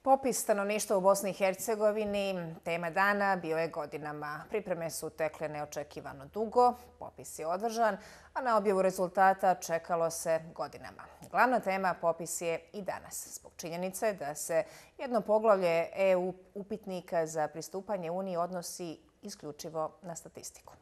Popis stanovništva u Bosni i Hercegovini, tema dana, bio je godinama. Pripreme su tekle neočekivano dugo, popis je održan, a na objavu rezultata čekalo se godinama. Glavna tema popis je i danas, zbog činjenice da se jedno poglavlje EU upitnika za pristupanje Uniji odnosi isključivo na statistiku.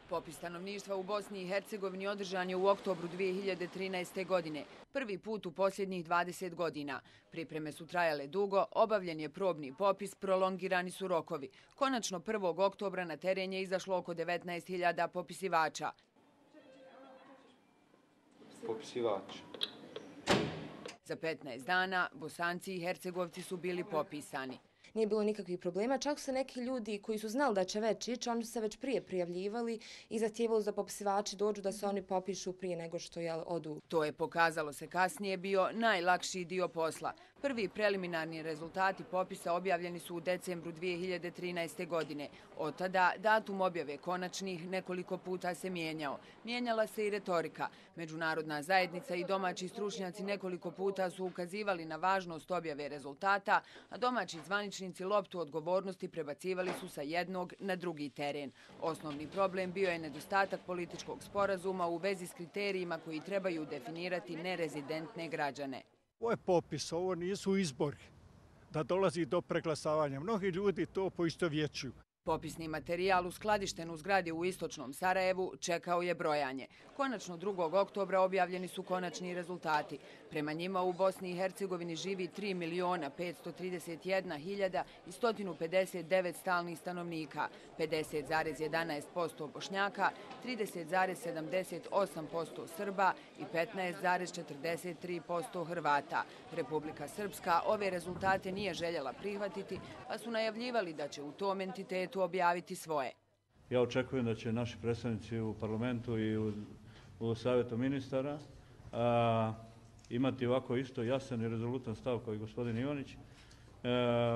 Popis stanovništva u Bosni i Hercegovini održan je u oktobru 2013. godine, prvi put u posljednjih 20 godina. Pripreme su trajale dugo, obavljen je probni popis, prolongirani su rokovi. Konačno 1. oktobra na teren je izašlo oko 19.000 popisivača. Za 15 dana Bosanci i Hercegovci su bili popisani. Nije bilo nikakvih problema, čak su neki ljudi koji su znali da će već ići, oni su se već prije prijavljivali i zahtijevali da popisivači dođu da se oni popišu prije nego što odu. To je, pokazalo se kasnije, bio najlakši dio posla. Prvi preliminarni rezultati popisa objavljeni su u decembru 2013. godine. Od tada datum objave konačnih nekoliko puta se mijenjao. Mijenjala se i retorika. Međunarodna zajednica i domaći stručnjaci nekoliko puta su ukazivali na važnost objave rezultata, a domaći zvaničnici loptu odgovornosti prebacivali su sa jednog na drugi teren. Osnovni problem bio je nedostatak političkog sporazuma u vezi s kriterijima koji trebaju definirati nerezidentne građane. Ovo je popis, ovo nisu izbori da dolazi do preglasavanja. Mnogi ljudi to poistovjećuju. Popisni materijal uskladišten u zgradi u istočnom Sarajevu čekao je brojanje. Konačno 2. oktobra objavljeni su konačni rezultati. Prema njima u Bosni i Hercegovini živi 3.531.159 stalnih stanovnika, 50,11% Bošnjaka, 30,78% Srba i 15,43% Hrvata. Republika Srpska ove rezultate nije željela prihvatiti, pa su najavljivali da će u tom entitetu objaviti svoje. Ja očekujem da će naši predstavnici u parlamentu i u savjetu ministara imati ovako isto jasan i rezolutan stav kao i gospodin Ivanić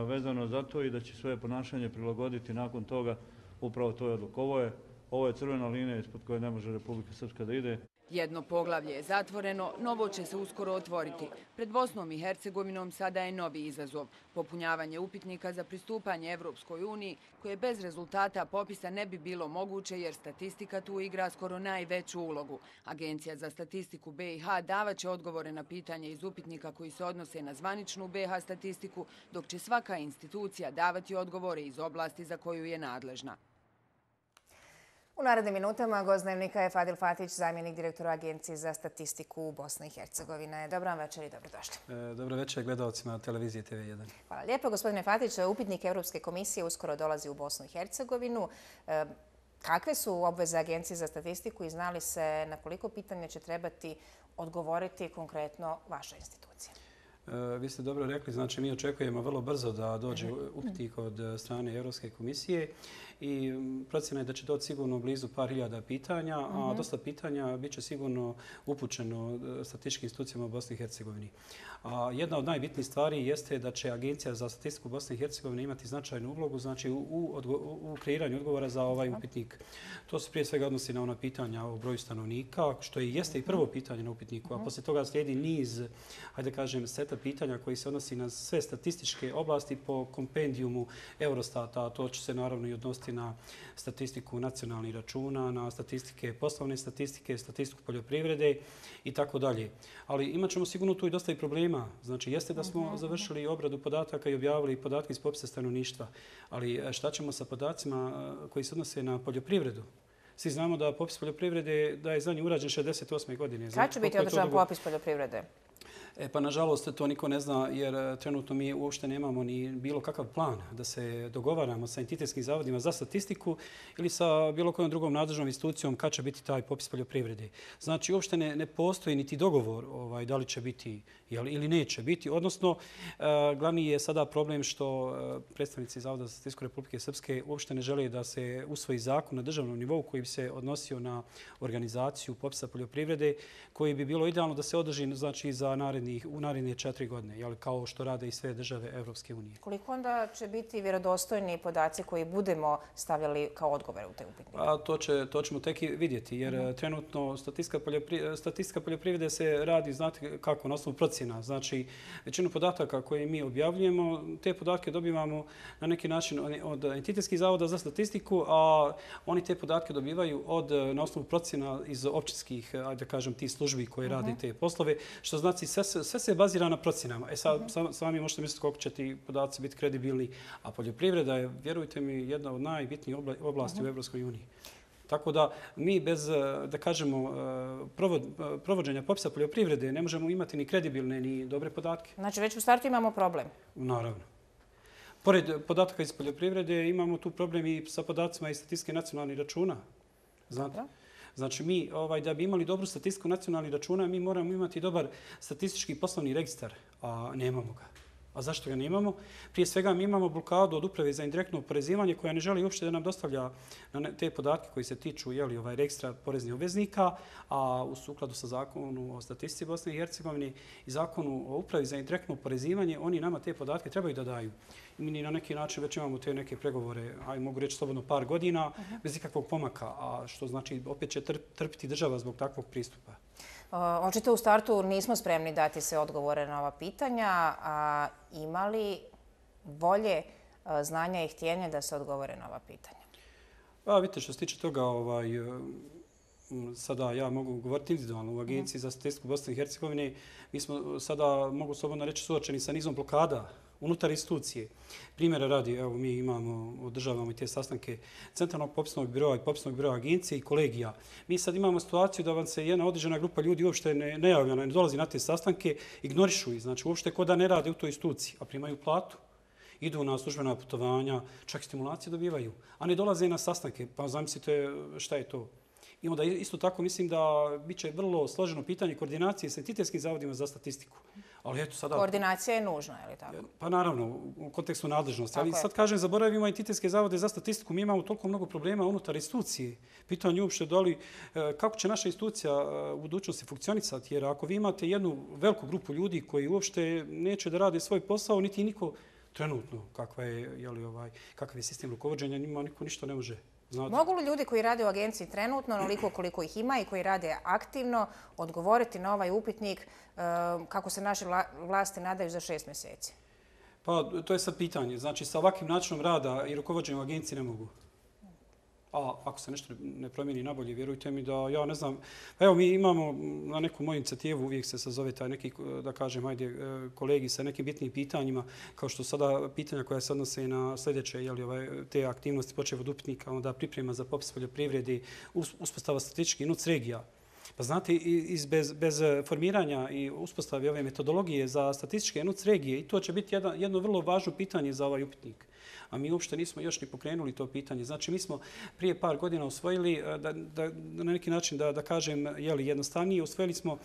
vezano za to i da će svoje ponašanje prilagoditi nakon toga upravo toj odluku. Ovo je crvena linija ispod koje ne može Republika Srpska da ide. Jedno poglavlje je zatvoreno, novo će se uskoro otvoriti. Pred Bosnom i Hercegovinom sada je novi izazov. Popunjavanje upitnika za pristupanje Evropskoj uniji, koje bez rezultata popisa ne bi bilo moguće jer statistika tu igra skoro najveću ulogu. Agencija za statistiku BiH davaće odgovore na pitanje iz upitnika koji se odnose na zvaničnu BiH statistiku, dok će svaka institucija davati odgovore iz oblasti za koju je nadležna. U narednim minutama gost Dnevnika je Fadil Fatić, zamjenik direktora Agencije za statistiku u Bosni i Hercegovine. Dobar vam večer i dobrodošli. Dobro večer gledalcima televizije TV1. Hvala lijepo. Gospodine Fatić, upitnik Europske komisije uskoro dolazi u Bosnu i Hercegovinu. Kakve su obveze Agencije za statistiku i zna li se na koliko pitanja će trebati odgovoriti konkretno vaša institucija? Vi ste dobro rekli, znači mi očekujemo vrlo brzo da dođe upitnik od strane Europske komisije i procjena je da će doći sigurno blizu par hiljada pitanja, a dosta pitanja bit će sigurno upućeno statističkim institucijama u Bosni i Hercegovini. Jedna od najbitnijih stvari jeste da će Agencija za statistiku Bosne i Hercegovine imati značajnu ulogu, znači u kreiranju odgovora za ovaj upitnik. To se prije svega odnosi na ona pitanja o broju stanovnika, što jeste i prvo pitanje na upitniku, a poslije toga slijedi niz, hajde kažem, seta pitanja koji se odnosi na sve statističke oblasti po kompendijumu Eurostata. To će se naravno i odnositi na statistiku nacionalnih računa, na statistike, poslovne statistike, statistiku poljoprivrede i tako dalje. Ali imat ćemo sigurno tu i dosta i problema. Znači, jeste da smo završili obradu podataka i objavili podatke iz popisa stanovništva, ali šta ćemo sa podacima koji se odnose na poljoprivredu? Svi znamo da popis poljoprivrede da je zadnji urađen 68. godine. Kada će biti održan popis poljoprivrede? Pa nažalost to niko ne zna jer trenutno mi uopšte nemamo ni bilo kakav plan da se dogovaramo sa entitetskim zavodima za statistiku ili sa bilo kojom drugom nadležnom institucijom kad će biti taj popis poljoprivrede. Znači uopšte ne postoji niti dogovor da li će biti ili neće biti. Odnosno, glavni je sada problem što predstavnici Zavoda za statistiku Republike Srpske uopšte ne žele da se usvoji zakon na državnom nivou koji bi se odnosio na organizaciju popisa poljoprivrede, koji bi bilo idealno da se održi znači za narednih u naredne 4 godine, kao što rade i sve države Evropske unije. Koliko onda će biti vjerodostojni podaci koji budemo stavljali kao odgovore u te upitnike? To ćemo tek vidjeti, jer trenutno statistika poljoprivrede se radi, znate kako, na osnovu procjena. Znači, većinu podataka koje mi objavljujemo, te podatke dobivamo na neki način od Entitetskih zavoda za statistiku, a oni te podatke dobivaju na osnovu procjena iz općinskih, ajde da kažem, tih službi koje rade te poslove, što znači sve se bazira na procjenama. Sad sami možete misliti koliko će ti podaci biti kredibilni, a poljoprivreda je, vjerujte mi, jedna od najbitnijih oblasti u Evropskoj uniji. Tako da mi bez, da kažemo, provođenja popisa poljoprivrede ne možemo imati ni kredibilne ni dobre podatke. Znači već u startu imamo problem? Naravno. Pored podataka iz poljoprivrede imamo tu problem i sa podacima iz statistike nacionalnih računa. Znate? Znači mi, da bi imali dobru statistiku nacionalnih računa, mi moramo imati dobar statistički poslovni registar, a nemamo ga. A zašto ga nemamo? Prije svega mi imamo blokadu od Uprave za indirektno oporezivanje koja ne želi uopšte da nam dostavlja te podatke koji se tiču registra poreznih obveznika, a u sukladu sa zakonu o statistici Bosne i Hercegovine i zakonu o Upravi za indirektno oporezivanje, oni nama te podatke trebaju da daju. Mi na neki način već imamo te neke pregovore, mogu reći slobodno par godina, bez ikakvog pomaka, a što znači opet će trpiti država zbog takvog pristupa. Očito u startu nismo spremni dati se odgovore na ova pitanja, a ima li volje, znanja i htjenja da se odgovore na ova pitanja? Vidite, što se tiče toga, sada ja mogu govoriti individualno u Agenciji za statistiku Bosne i Hercegovine. Mi smo sada, mogu slobodno reći, suočeni sa nizom blokada unutar institucije. Primjera radi, evo mi održavamo i te sastanke Centralnog popisnog biroa i popisnog biroa agencije i kolegija. Mi sad imamo situaciju da vam se jedna određena grupa ljudi uopšte ne javlja, ne dolazi na te sastanke, ignorišu ih, znači uopšte ko da ne rade u toj instituciji, a primaju platu. Idu na službena putovanja, čak i stimulacije dobivaju, a ne dolaze na sastanke. Pa zamislite šta je to. I onda isto tako mislim da bit će vrlo složeno pitanje koordinacije s entitetskim zavodima za statistiku. Ali eto sada... Koordinacija je nužna, je li tako? Pa naravno, u kontekstu nadležnosti. Ali sad kažem, zaboravimo entitetske zavode za statistiku. Mi imamo toliko mnogo problema unutar institucije. Pitanje uopšte kako će naša institucija u budućnosti funkcionisati. Jer ako vi imate jednu veliku grupu ljudi koji uopšte neće da rade svoj posao, niti niko trenutno kakav je sistem rukovođenja, njima niko ništa ne može. Mogu li ljudi koji rade u agenciji trenutno, onoliko koliko ih ima i koji rade aktivno, odgovoriti na ovaj upitnik kako se naše vlasti nadaju za 6 mjeseci? Pa to je sad pitanje. Znači sa ovakvim načinom rada i rukovođenjem u agenciji ne mogu. A ako se nešto ne promijeni nabolje, vjerujte mi da ja ne znam. Evo mi imamo na neku moju inicijativu, uvijek se sazove taj neki, da kažem, kolegi sa nekim bitnim pitanjima, kao što sada pitanja koja se odnose na sljedeće, te aktivnosti počev od upitnika, onda priprema za popis poljoprivrede, uspostava statističkih NUTS regija. Pa znate, bez formiranja i uspostave ove metodologije za statističke NUTS regije, i to će biti jedno vrlo važno pitanje za ovaj upitnik. A mi uopšte nismo još ni pokrenuli to pitanje. Znači, mi smo prije par godina usvojili, na neki način da kažem jednostavnije, usvojili smo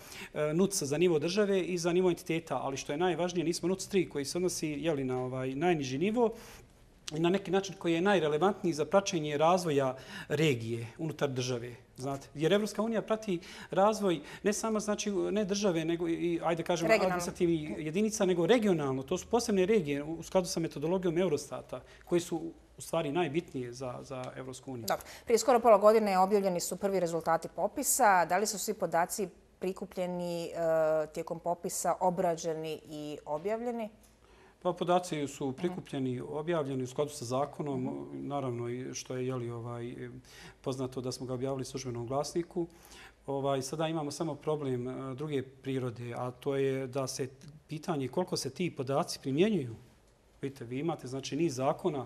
NUTS za nivo države i za nivo entiteta, ali što je najvažnije, nismo NUTS 3 koji se odnosi na najniži nivo, i na neki način koji je najrelevantniji za praćenje razvoja regije unutar države. Znate, jer Evropska unija prati razvoj ne samo, znači, ne države, nego i, ajde kažemo, administrativnih jedinica, nego regionalno. To su posebne regije u skladu sa metodologijom Eurostata, koji su u stvari najbitnije za Evropsku uniju. Dobro. Prije skoro pola godine objavljeni su prvi rezultati popisa. Da li su svi podaci prikupljeni tijekom popisa, obrađeni i objavljeni? Pa podaci su prikupljeni, objavljeni u skladu sa zakonom, naravno i što je poznato da smo ga objavili u službenom glasniku. Sada imamo samo problem druge prirode, a to je da se pitanje koliko se ti podaci primjenjuju. Vidite, vi imate znači niz zakona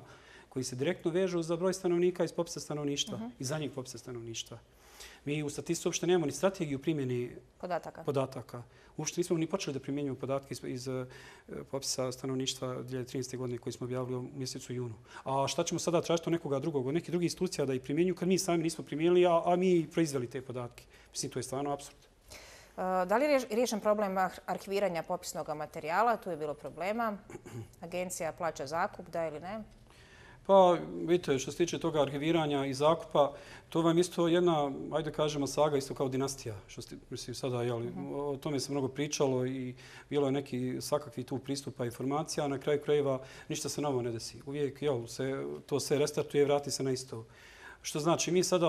koji se direktno vežu za broj stanovnika iz popisa stanovništva i zadnjeg popisa stanovništva. Mi u statistici uopšte nemamo ni strategiju primjene podataka. Uopšte nismo ni počeli da primjenjujemo podatke iz popisa stanovništva 2013. godine koji smo objavili u mjesecu junu. A šta ćemo sada tražiti od nekoga drugog, od nekih drugih institucija da ih primjenjuju kad mi sami nismo primijenili, a mi proizveli te podatke? Mislim, to je stvarno apsurd. Da li je riješen problem arhiviranja popisnog materijala? Tu je bilo problema. Agencija plaća zakup, da ili ne? Pa, vidite, što se tiče toga arhiviranja i zakupa, to vam isto jedna, ajde kažemo, saga, isto kao dinastija. Mislim, sada, o tome se mnogo pričalo i bilo je neki svakakvi tu pristupa informacija, a na kraju krajeva ništa se novo ne desi. Uvijek, to se restartuje, vrati se na isto. Što znači, mi sada,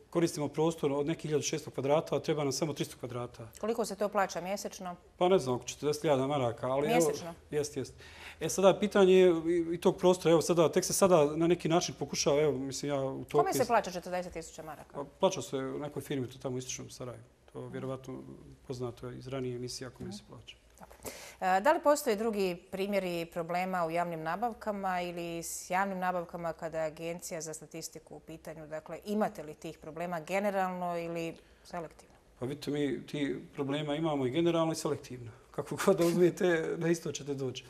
koristimo prostor od nekih 1600 kvadrata, a treba nam samo 300 kvadrata. Koliko se to plaća mjesečno? Pa ne znam, oko 40.000 maraka. Ali mjesečno? Jest. Sada pitanje je i tog prostora, tek se sada na neki način pokušava, mislim ja u to... Kome se plaća 40.000 maraka? Plaća se u nekoj firmi, to tamo u istočnom Sarajevu. To je vjerovatno poznato iz ranije emisija kome se plaća. Da li postoje drugi primjeri problema u javnim nabavkama ili s javnim nabavkama kada je Agencija za statistiku u pitanju? Dakle, imate li tih problema generalno ili selektivno? Pa vidite, mi ti problema imamo i generalno i selektivno. Kako god da uzmijete, na isto ćete doći.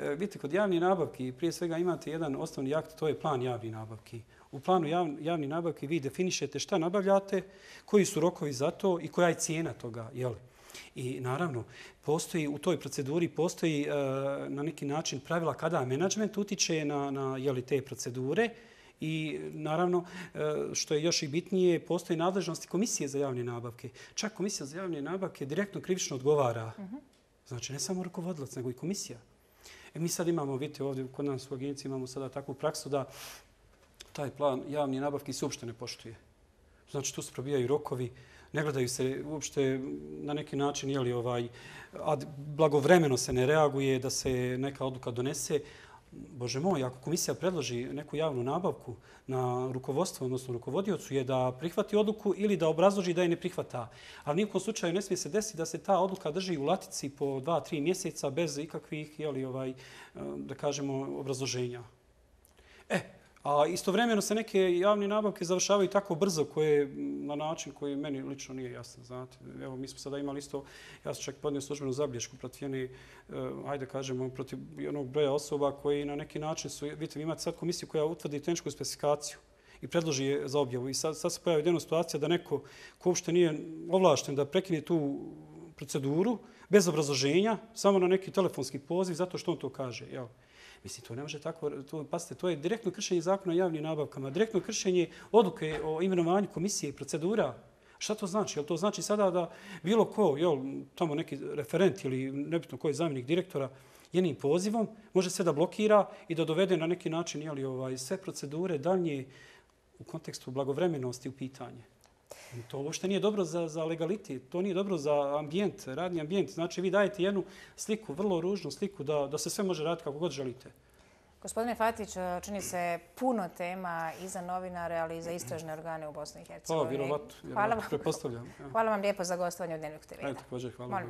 Vidite, kod javnih nabavki prije svega imate jedan osnovni akt, to je plan javnih nabavki. U planu javnih nabavki vi definišete šta nabavljate, koji su rokovi za to i koja je cijena toga. I naravno, u toj proceduri postoji na neki način pravila kada menadžment utiče na te procedure i naravno, što je još i bitnije, postoji nadležnosti Komisije za javne nabavke. Čak Komisija za javne nabavke direktno krivično odgovara. Znači, ne samo rukovodilac, nego i komisija. Mi sad imamo, vidite, ovdje kod nas u agenciji imamo sada takvu praksu da taj plan javnih nabavki se uopšte ne poštuje. Znači, tu se probijaju rokovi, ne gledaju se uopšte na neki način, blagovremeno se ne reaguje da se neka odluka donese. Bože moj, ako komisija predloži neku javnu nabavku na rukovodstvo, odnosno rukovodiocu, je da prihvati odluku ili da obrazloži da je ne prihvata. Ali nijekom slučaju ne smije se desiti da se ta odluka drži u latici po 2-3 mjeseca bez ikakvih, da kažemo, obrazloženja. A istovremeno se neke javne nabavke završavaju tako brzo na način koji meni lično nije jasan. Znate, evo mi smo sada imali isto, ja sam čak podnio službenu zabilješku protiv jedne, ajde kažemo, protiv onog broja osoba koji na neki način su, vidite, vi imate sad komisiju koja utvrdi tehničku specifikaciju i predloži je za objavu. I sad se pojavi jedna situacija da neko ko uopšte nije ovlašten da prekine tu proceduru bez obrazloženja, samo na neki telefonski poziv, zato što on to kaže. Mislim, to ne može tako, pazite, to je direktno kršenje zakona o javnim nabavkama, direktno kršenje odluke o imenovanju komisije i procedura. Šta to znači? Jel to znači sada da bilo ko, tamo neki referent ili nebitno koji je zamjenik direktora, jednim pozivom može se da blokira i da dovede na neki način sve procedure dalje u kontekstu blagovremenosti u pitanje. To uopšte nije dobro za legalitet, to nije dobro za ambijent, radni ambijent. Znači, vi dajete jednu sliku, vrlo ružnu sliku, da se sve može raditi kako god želite. Gospodine Fatić, čini se puno tema i za novinare, ali i za istražne organe u Bosni i Hercegovini. Vjerovatno, pretpostavljam. Hvala vam lijepo za gostovanje u Dnevniku TV. Također, hvala.